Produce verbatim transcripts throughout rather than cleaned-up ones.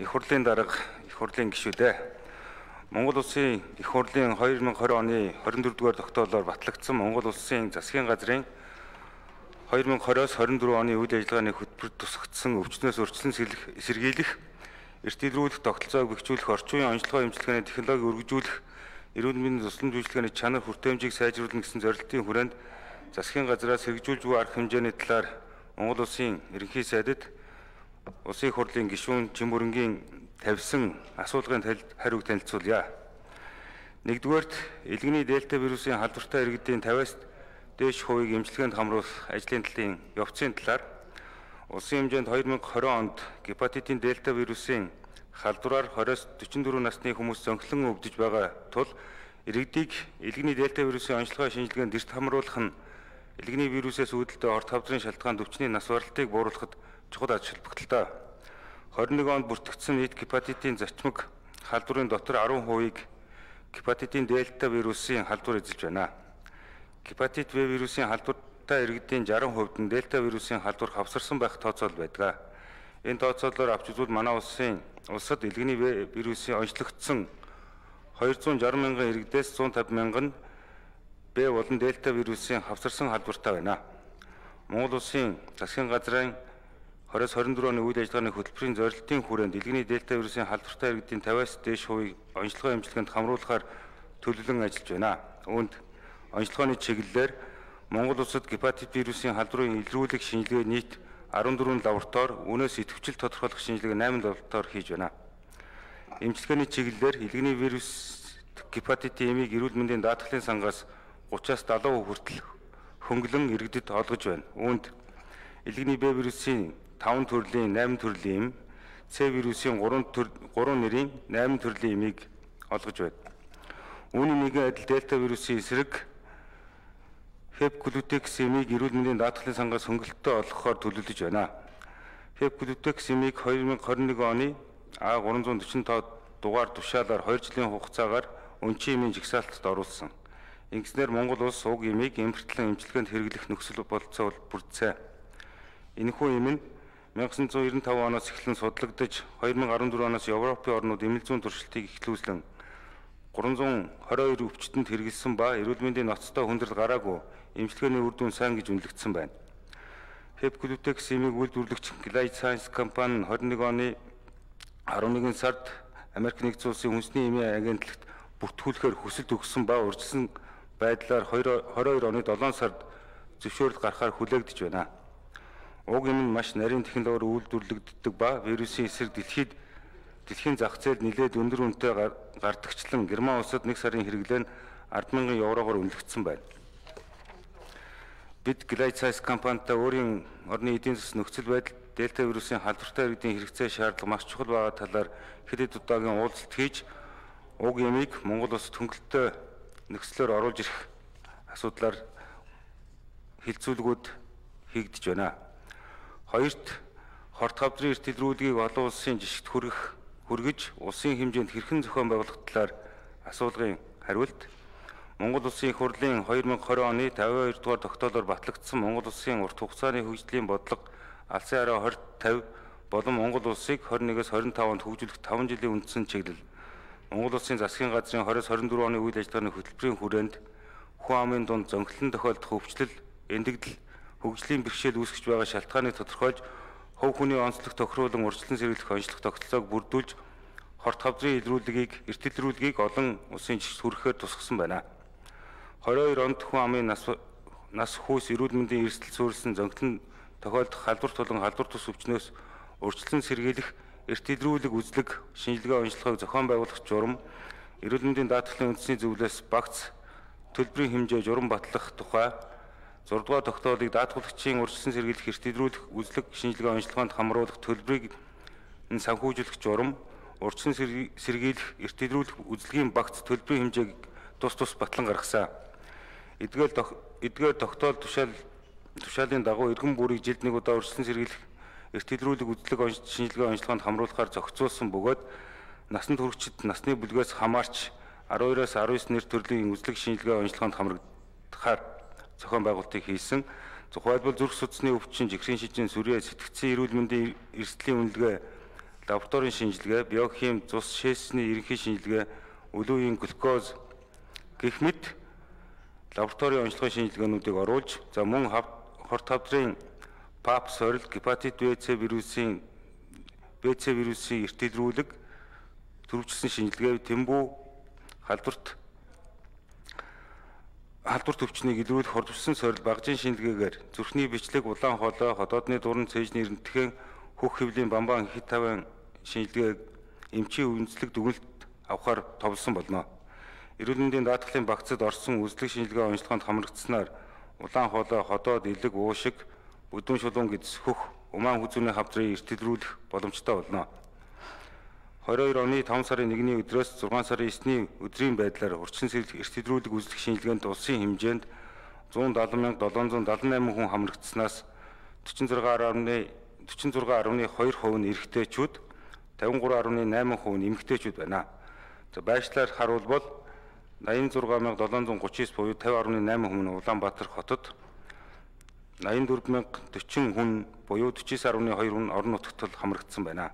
их хурлын дарга их хурлын гишүүдээ Монгол улсын их хурлын две тысячи двадцать оны двадцать четвёрт дугаар тогтоолоор батлагдсан Монгол улсын засгийн газрын две тысячи двадцать-аас двадцать четыре оны үйл ажиллагааны хөтөлбөрт тусгагдсан өвчнөөс өрчлөн сэргийлэх, эрт илрүүлэх, тогтолцоог бэхжүүлэх, орчин үеийн онцлогоо хэмжлэгээний технологи өргөжүүлэх, эрүүл мэндийн тусламж үйлчилгээний чанар хүртээмжийг сайжруулах гэсэн зорилтын хүрээнд засгийн газраас хэрэгжүүлж буй арга хэмжээний талаар Монгол улсын ерөнхий сайдад Улсын их хурлын гишүүн Чимүрэнгийн тавьсан асуулгын хариуг танилцуулъя. Нэгдүгээрт элгэний дельта вирусын халдвартай иргэдийн пятьдесят дээш хувийг эмчилгээнд хамруулах ажлын талын явцын талаар улсын хэмжээнд две тысячи двадцать онд гепатитын дельта вирусын халдвараар двадцать-аас forty-four насны хүмүүс зөнхлөн өвдөж байгаа тул иргэдийг элгэний дельта вирусын онцлогоо шинжилгээнд эрт хамруулах нь элгэний вирусээс үүдэлтэй орт хавдрын шалтгаанд өвчний нас баралтыг бууруулахад чухал ач холбогдолтой. twenty-one онд бүртгэгдсэн нийт гепатитын зочмог халдварын дотор ten хувийг гепатитын дельта вирусын халдвар эзэлж байна. Гепатит В вирусын халдвартай иргэдийн sixty хувьд нь дельта вирусын халдвар хавсарсан байх тооцоол байдаг. Энэ тооцоолоор авч үзвэл манай улсын улсад элгэний В вирусын онцлогдсон two hundred sixty мянган иргэдээс one hundred fifty мянган Б болон дельта вирусын хавсарсан халдвартай байна. Монгол улсын засгийн газрын twenty twenty-four оны үйл ажиллагааны хөтөлбөрийн зорилтын хүрээнд элгэний дельта вирусын халдвартай иргэдийн fifty-аас дээш хувийг онцлогоо эмчилгээнд хамруулахаар төлөвлөн ажиллаж байна. Үүнд онцлогооны чиглэлээр Монгол улсад гепатит вирусын халдварын илрүүлэх шинжилгээ нийт fourteen лаборатори, үүнээс идэвхжил тодорхойлох шинжилгээ eight лаборатори хийж байна. Эмчилгээний чиглэлээр элгэний вирус гепатитын эмийг эрүүл мэндийн даатгалын сангаас thirty-аас seventy хүртэл хөнгөлөн иргэдэд олгож байна. Үүнд элгэний Б вирусын five төрлийн eight төрлийн эм, С вирусын three нэрийн eight төрлийн эмийг олгож байна. Үүний нэгэн адил дельта вирусын эсрэг Хепглютекс эмийг эрүүл мэндийн даатгалын сангаас хөнгөлөлтөд олгохоор төлөвлөж байна. Хепглютекс эмийг twenty twenty-one оны А three forty-five дугаар тушаалаар two жилийн хугацаагаар өнчин эмийн жигсаалтад оруулсан. Ингэснээр Монгол улс уг эмийг эмхэртлэн эмчилгээнд хэрэглэх нөхцөл бололцоо бүрдсэн. Энэхүү эм нь nineteen ninety-five оноос эхлэн судлагдаж twenty fourteen оноос Европын орнууд эмэл зүйн туршилтыг эхлүүлсэн three twenty-two өвчтөнд хэрэгэлсэн ба эрүүл мэндийн ноцтой хүндрэл гараагүй эмчилгээний үр дүн сайн гэж үнэлэгдсэн байна. Hepgluteks эмийг үйлдвэрлэгч Gilead Sciences компани twenty-one оны eleven сард Америк нэгдсэн улсын хүнсний эмийн агентлагт бүртгүүлэхээр хүсэлт өгсөн ба урьдчилсан байдлаар twenty-two оны seven сард зөвшөөрөл гаргахаар хүлээгдэж байна. Уг эм нь маш нарийн технологиор үйлдвэрлэгддэг ба вирусын эсрэг дэлхийд дэлхийн зах зээлд нэлээд өндөр үнэтэй гардагчлан Герман улсад one сарын хэрэглээ нь ten thousand еврогоор үнэлэгдсэн байна. Бид Gilead Sciences компанитай өөрийн орны эдийн засгийн нөхцөл байдал дельта вирусын халдвартай иргэдийн хэрэгцээ шаардлага маш чухал байгаа талаар хэд хэд удаагийн уулзалт хийж уг эмийг Монгол улсад хөнгөлөлтөд нөхцлөөр оруулж ирэх асуудлаар хилцүүлгүүд хийгдэж байна. Хоёрт хорт хавдрын эрт илрүүлгийг олон улсын жишгт хүргэх хүргэж улсын хэмжээнд хэрхэн зохион байгуулах талаар асуулгын хариулт Монгол улсын их хурлын twenty twenty оны fifty-two дугаар тогтоолоор батлагдсан Монгол улсын урт хугацааны хөгжлийн бодлого алсын хараа twenty fifty болон Монгол улсыг twenty-one-аас twenty-five онд хөгжүүлэх five жилийн үндсэн чиглэл Монгол улсын засгийн газрын twenty twenty-four оны үйл ажиллагааны хөтөлбөрийн хүрээнд хүн амын дунд зөнхлөн тохиолдох өвчлөл, эндэгдэл, хөгжлийн бэрхшээл үүсгэж байгаа шалтгааныг тодорхойлж, хувь хүний онцлог тохируулан урьдчилан сэргийлэх онцлог тогтолцоог бүрдүүлж, хорт хавдрын илрүүлгийг, эрт илрүүлгийг олон улсын жишгт хүрэхээр тусгасан байна. twenty-two онд хүн амын нас нас хүйс эрүүл мэндийн эрсдэл суурилсан зөнхлөн тохиолдох халдвар тулан халдвар тус өвчнөөс урьдчилан сэргийлэх, эрт илрүүлэг үзлэг, шинжилгээ онцлогыг зохион байгуулах журам, эрүүл мэндийн даатгалын үндэсний зөвлөлөөс багц төлбөрийн хэмжээ журам батлах тухай six дугаар тогтоолыг даатгалагчийн урьдчилан сэргийлэх, эрт илрүүлэх, үзлэг, шинжилгээ онцлогоонд хамруулах төлбөрийг санхүүжүүлэх журам, урьдчилан сэргийлэх, эрт илрүүлэх үзлэгийн багц төлбөрийн хэмжээг тус тус батлан гаргасан. Эдгээр эдгээр тогтоол тушаал тушаалын дагуу иргэн бүрийг жилд нэг удаа урьдчилан сэргийлэх, эрт илрүүлэг үзлэг шинжилгээ онцлогоонд хамруулахаар зохицуулсан бөгөөд насанд хүрэгчид насны бүлгээс хамаарч twelve-аас nineteen нэр төрлийн үзлэг шинжилгээ онцлогоонд хамрагдахаар зохион байгуулалтыг хийсэн. Тухайлбал зүрх судасны өвчин, жигсийн шижин, сүрээ, сэтгцийн эрүүл мэндийн эрсдлийн үнэлгээ, лабораторийн шинжилгээ, биохим, цус шээсний ерөнхий шинжилгээ, өлөвийн глюкоз гэх мэт лабораторийн онцлогын шинжилгээнүүдийг оруулж, за мөн хорт хавдрын пап сорил, гепатит Б С вирусын Б С вирусын эртэлрүүлэг, түрвчилсэн шинжилгээ, тэмбүү халдварт халдварт өвчнийг илрүүлэх хордовсон сорил багжийн шинжилгээгээр зүрхний бичлэг, улаан хоолой, ходоодны дуран, цээжний эрентхэн, хөх хэвлийн бамбан хит таван шинжилгээг эмчийн үндэслэг дүгнэлт авахар товлсон болно. Эрүүл мэндийн даатгалын багцад орсон үзлэг шинжилгээ онцлогоонд хамрагдсанаар улаан хоолой, ходоод, элэг, уушиг, бүдүүн шулуун гэдс хөх, умаан хүзүүний хавдрыг эртэлрүүлэх боломжтой болно. двадцать хоёр оны таван сарын нэгний өдрөөс зургаан сарын эсний өдрийн байдлаар урьдчилан сэргийлэх эртэлрүүлэг үзлэх шинжилгээнд улсын хэмжээнд зуун далайн мянга долоон зуун далайн найман хүн хамрагдсанаас дөрвөн зургаан гаруй хоёр хувь нь эрэгтэйчүүд, тавин гурван гаруй найман хувь нь эмэгтэйчүүд байна. За байшлаар харуулбал найман зургаан мянга долоон зуун гучин девять буюу тавин гаруй найман хүн нь Улаанбаатар хотод, найман дөрвөн мянга дөрвөн хүн буюу дөрвөн гаруй хоёр хүн орон нутагт хамрагдсан байна.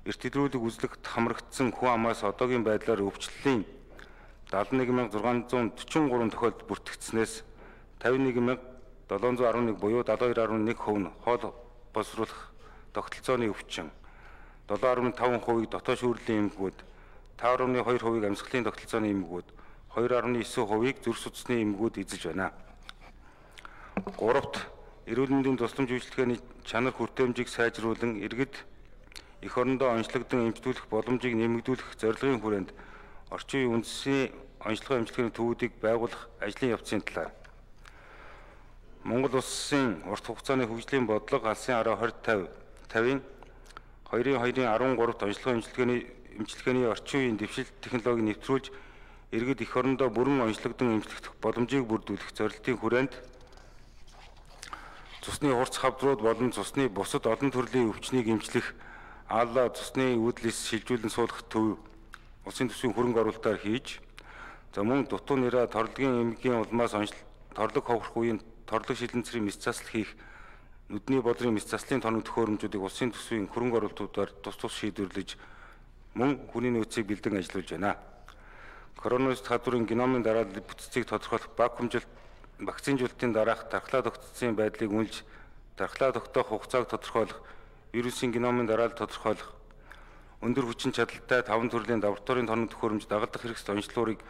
Эртэлрүүлэг үзлэгт хамрагдсан хүн амаас одоогийн байдлаар өвчлөлийн далайн нэг мянга зургаан зуун дөрвөн гурван тохиолдолд бүртгэгдснээс тавин нэг мянга долоон зуун арван нэг буюу дадлага хоёр гаруй нэг хувь нь хоол боловсруулах тогтолцооны өвчин, долоон гаруй таван хувийг дотоод шүүрлийн эмгэгүүд, таван гаруй хоёр хувийг амьсгалын тогтолцооны эмгэгүүд, хоёр гаруй девять хувийг зүрх судасны эмгэгүүд эзэлж байна. Гуравт эрүүл мэндийн тусламж үйлчилгээний чанар хүртээмжийг сайжруулан иргэд эх орондоо онцлогдсон эмчтүүлэх боломжийг нэмэгдүүлэх зорилгын хүрээнд орчин үеийн үндэсний онцлогын эмчилгээний төвүүдийг байгуулах ажлын явцын талаар Монгол улсын урт хугацааны хөгжлийн бодлого алсын араа двадцать тавийн хоёрын хоёрын арван гуравт онцлогын эмчилгээний эмчилгээний орчин үеийн дэвшил технологиг нэвтрүүлж иргэд эх орондоо бүрэн онцлогдсон эмчлэх боломжийг бүрдүүлэх зорилтын хүрээнд цусны хурц хавдрууд болон цусны бусад олон төрлийн өвчнийг эмчлэх алла цусны үүдлээс шилжүүлэн суулгах төв улсын төсвийн хөрөнгө оруулалтаар хийж, за мөн дутуу нэрэ торлогийн эмгийн улмаас торлог ховрох үеийн торлог шилэнцрийн мэс засал хийх нүдний бодрын мэс заслын тоног төхөөрөмжүүдийг улсын төсвийн хөрөнгө оруулалтуудаар тус тус шийдвэрлэж мөн хүний нөөцийг бэлдэн ажиллуулж байна. Коронавирус халдварын геномын дараалал бүтцийг тодорхойлох вакуумжилт вакцинжуулалтын дараах тархлаа тогтцсон байдлыг үнэлж тархлаа тогтоох хугацааг тодорхойлох, вирусын геномын дараалал тодорхойлох, өндөр хүчин чадалтай таван төрлийн лабораторийн тоног төхөөрөмж дагалдах хэрэгсэл онцлогыг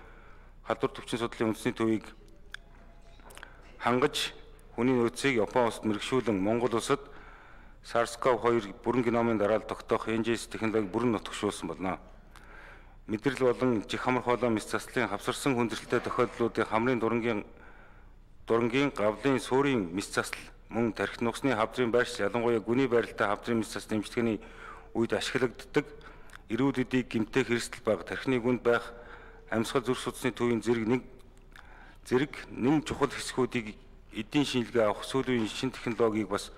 халдвар төвчин судлалын үндэсний төвийг хангаж хүний нөөцийг Япон улсад мэргэшүүлэн Монгол улсад SARS-си о ви two бүрэн геномын дараалал тогтоох эн жи эс технологиг бүрэн нутагшуулсан болно. Мэдрэл болон жих хамар хоолой мэс заслын хавсарсан хүндрэлтэй тохиолдлуудын хамрын дурангийн дурангийн гавлын суурийн мэс засал мөн тархит нухсны хавдрын байршил ялангуяа гүний байралтай хавдрын мэс заслын эмчилгээний үед ашиглагддаг эрүүл үдийг гэмтэх хэрэгсэл бага тархины гүнд байх амьсгал зүрх судасны төвийн зэрэг нэг зэрэг нэн чухал хэсгүүдийг эдийн шинжилгээ авах сүүлийн шин технологиг бас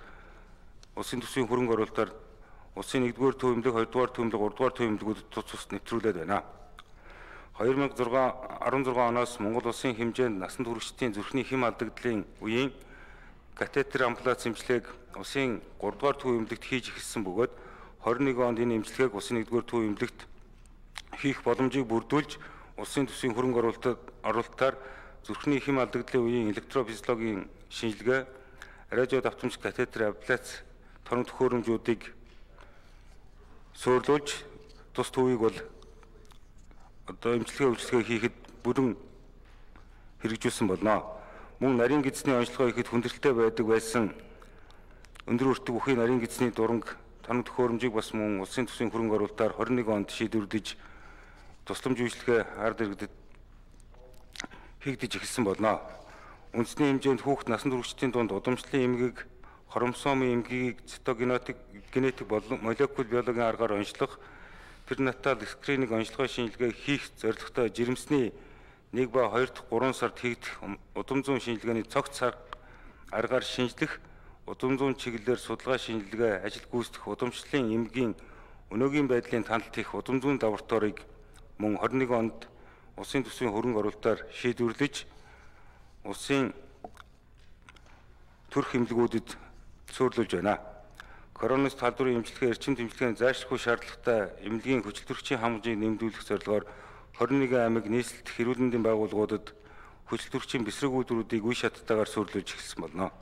улсын төсвийн хөрөнгө оруулалтаар улсын нэгдүгээр төвөмлөг, хоёрдугаар төвөмлөг, гуравдугаар төвөмлөгүүд тус тус нэвтрүүлээд байна. две тысячи шестнадцать оноос Монгол улсын хэмжээнд насанд хүрэгчдийн зүрхний хэм алдагдлын үеийн катетер ампулац эмчилгээг улсын гуравдугаар төвөмлөгт хийж эхэлсэн бөгөөд двадцать one онд энэ эмчилгээг улсын нэгдүгээр төвөмлөгт хийх боломжийг бүрдүүлж улсын төсвийн хөрөнгө оруулалтаар зүрхний хэм алдагдлын үеийн электрофизиологийн шинжилгээ, радио давтамж катетер абляц тоног төхөөрөмжүүдийг суурилуулж тус төвийг бол одоо эмчилгээ үйлчилгээ хийхэд бүрэн хэрэгжүүлсэн болно. Мөн нарийн гидсний онцлогоо ихэд хүндрэлтэй байдаг байсан өндөр өртөг бүхий нарийн гидсний дуранг тоног төхөөрөмжийг бас мөн улсын төсвийн хөрөнгө оруулалтаар twenty-one онд шийдвэрлэж тусламж үйлчилгээ ард иргэдэд хийгдэж эхэлсэн болно. Үндэсний хэмжээнд хүүхд насанд хүрэгчдийн дунд удамшлын эмгэг, хромосомын эмгэгийг цитогенетик генетик болон молекул биологийн аргаар онцлох перинатал скрининг онцлогын шинжилгээ хийх зорилготой жирэмсний нэг ба хоёр дахь гурван сард хийгдэх удам зуун шинжилгээний цогц аргаар шинжлэх удам зуун чиглэлээр судалгаа шинжилгээ ажил гүйцэтгэх удамшлын эмгийн өнөөгийн байдлын таналт хийх удам зуун лабораторийг мөн twenty-one онд улсын төсвийн хөрөнгө оруулалтаар шийдвэрлэж улсын төрх эмнэлгүүдэд суурилуулж байна. коронавирус талбарын эмчилгээ эрчим тэмцлэгийн зайлшгүй шаардлагатай эмнэлгийн хүчил төрөгчийн хангамжийг нэмэгдүүлэх зорилгоор хорин нэгэн аймаг нийслэлт хэрүүлэндийн байгууллагуудад хүчил төрөгчийн бэсрэг үйлдвэрүүдийг үе шаттайгаар суурилуулж эхэлсэн болно.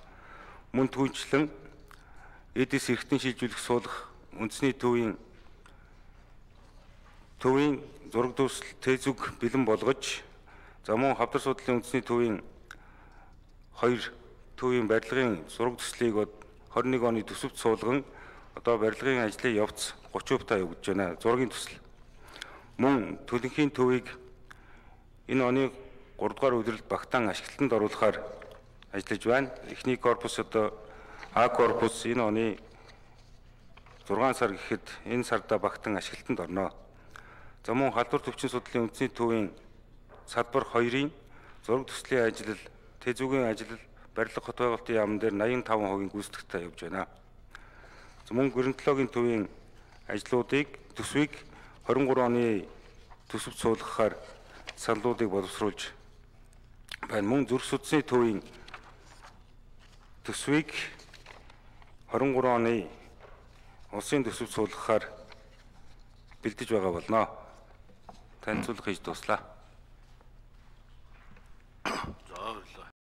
Мөн түүнчлэн эдис эрхтэн шилжүүлэх суулгах үндэсний төвийн төвийн зураг дүрслэл тэзүг бэлэн болгож, за мөн хавдар судлалын үндэсний төвийн хоёр төвийн барилгын зураг төслийг хорин нэг оны төсөвт суулган одоо барилгын ажлын явц гурван хувьтай явагдаж байна. Зургийн төсөл. Мөн төлөнхийн төвийг энэ оны гурав дугаар үеэрэлд багтаан ашиглалтанд оруулахаар ажиллаж байна. Эхний корпус одоо А корпус энэ оны зургаан сар гэхэд энэ сарда багтаан ашиглалтанд орно. За мөн халдвар төвчин судлалын үндэсний төвийн салбар хоёрын зураг төслийн ажил, тэзүүгийн ажил, барилга хот байгуулалтын яамн дээр найман таван хувийн гүйцэтгэлтэй явж байна. Мөн геронтологийн төвийн ажлуудыг төсвийг хорин гурван оны төсөвт суулгахаар саналуудыг боловсруулж байна. Мөн зүрх судасны төвийн төсвийг хорин гурван оны улсын төсөвт суулгахаар бэлдэж байгаа болно. Танилцуулга хийж дуслаа.